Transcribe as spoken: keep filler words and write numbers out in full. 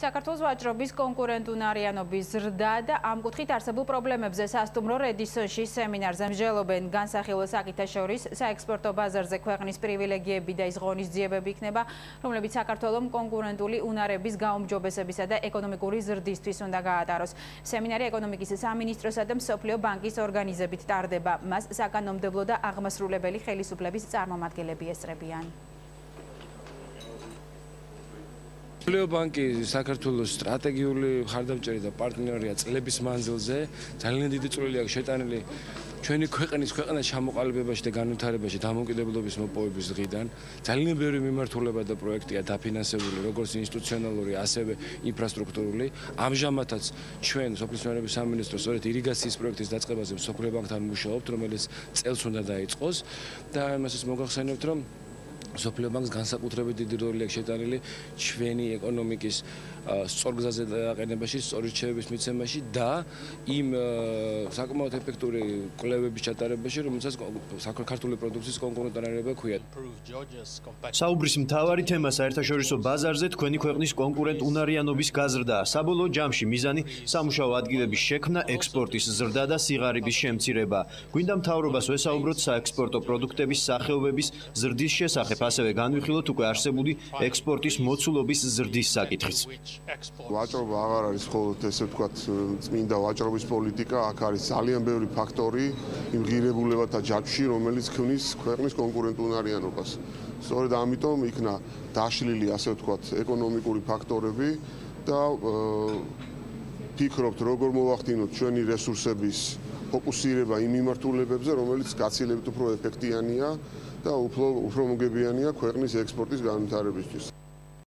საქართველოს ვაჭრობის კონკურენტუნარიანობის ზრდა და ამ კუთხით არსებულ პრობლემებზე სასტუმრო რედისონში სემინარზე მსჯელობენ განსახილველ საკითხებს საექსპორტო ბაზარზე ქვეყნის პრივილეგიები და ის ღონისძიებები იქნება, რომლებიც საქართველოს კონკურენტული უნარების გაუმჯობესებისა და ეკონომიკური ზრდისთვის უნდა გაატაროს. სემინარი ეკონომიკის სამინისტროსა და მსოფლიო ბანკის ორგანიზებით ტარდება. მას საკანონმდებლო და აღმასრულებელი ხელისუფლების წარმომადგენლები ესწრებიან. მსოფლიო ბანკი საქართველოს სტრატეგიული მხარდამჭერი და პარტნიორია წლების მანძილზე. ძალიან დიდი წვლილი აქვს შეტანილი ჩვენი ქვეყნის ქვეყანას ჩამოყალიბებაში და განვითარებაში დამოუკიდებლობის მოპოვების დღიდან. ძალიან ბევრი მიმართულება და პროექტია დაფინანსებული, როგორც ინსტიტუციონალური, ასევე ინფრასტრუქტურული. ამჟამადაც ჩვენ სოფლის მეურნეობის სამინისტრო სწორედ ირიგაციის პროექტის დაწყებაზე მსოფლიო ბანკთან მუშაობთ, რომელიც წელს უნდა დაიწყოს და იმასაც მოგახსენებთ, რომ მსოფლიო ბანკს განსაკუთრებით დიდი როლი აქვს შეტანილი ჩვენი ეკონომიკის სწორგზაზე დაყენებაში, სწორი რჩევების მიცემაში და იმ საკმაოდ ეფექტური კვლევების ჩატარებაში, რომელსაც საქართველოს პროდუქციის კონკურენტუნარიანობა ქვია. საუბრის მთავარი თემა საერთაშორისო ბაზარზე თქვენი ქვეყნის კონკურენტუნარიანობის გაზრდაა. საბოლოო ჯამში მიზანი სამუშაო ადგილების შექმნა, ექსპორტის ზრდა და სიღარიბის შემცირება. გვინდა მთავრობას ვესაუბროთ საექსპორტო პროდუქტების სახეობების ზრდის შესახებ. ასევე განვიხილოთ უკვე არსებული ექსპორტის მოცულობის ზრდის საკითხიც. ვაჭრობა აღარ არის მხოლოდ ესე ვთქვათ წმინდა ვაჭრობის პოლიტიკა, აქ არის ძალიან ბევრი ფაქტორი იმ ღირებულებათა ჯაჭვში, რომელიც ქმნის ქვეყნის კონკურენტუნარიანობას. სწორედ ამიტომ იქნა დაშლილი ასე ვთქვათ ეკონომიკური ფაქტორები და ფიქრობთ როგორ მოვახდინოთ ჩვენი რესურსების ფოკუსირება იმ მიმართულებებზე, რომელიც გაცილებით უფრო ეფექტიანია და უფრო უფრო მოგებიანია ქვეყნის ექსპორტის განვითარებისთვის.